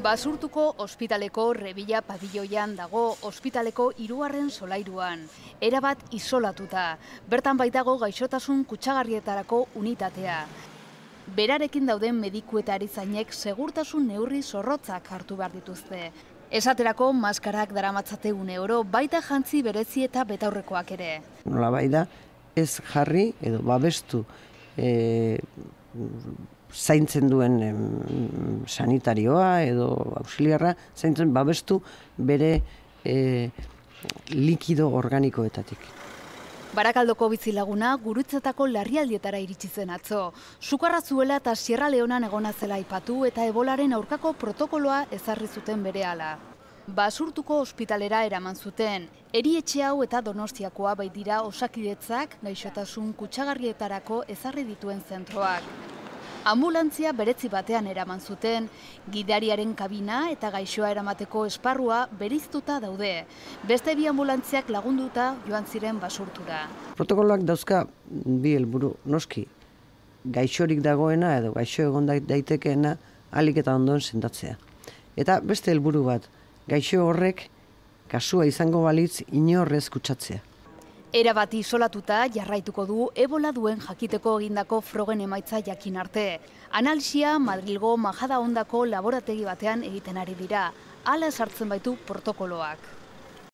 Basurtuko ospitaleko Rebila pabilloian dago ospitaleko 3. solairuan. Erabat isolatuta. Bertan baitago gaixotasun kutsagarrietarako unitatea. Berarekin dauden mediku eta erizainek segurtasun neurri zorrotzak hartu behar dituzte. Esaterako maskarak daramatzate €1, baita jantzi berezi eta betaurrekoak ere. Nolabait da, ez jarri edo babestu zaintzen duen sanitarioa edo auxiliarra, zaintzen babestu bere likido organikoetatik. Barakaldoko bizilaguna Gurutzetako larrialdietara iritsi zen atzo. Sukarra zuela eta Sierra Leonan egona zela aipatu eta ebolaren aurkako protokoloa ezarri zuten berehala. Basurtuko ospitalera eraman zuten. Erietxe hau eta Donostiakoa baitira Osakidetzak gaixotasun kutsagarrietarako ezarri dituen zentroak. Anbulantzia beretzi batean eraman zuten, gidariaren kabina eta gaixoa eramateko esparrua bereiztuta daude. Beste 2 ambulantziak lagunduta joan ziren Basurtura. Protokoloak dauzka bi helburu, noski, gaixorik dagoena edo gaixo egon daitekeena ahalik eta ondoen sendatzea. Eta beste helburu bat, gaixo horrek kasua izango balitz inorrez kutsatzea. Erabat isolatuta jarraituko du ebola duen jakiteko egindako frogen emaitza jakin arte. Analisia Madrilgo Majadahondako laborategi batean egiten ari dira. Hala sartzen baitu protokoloak.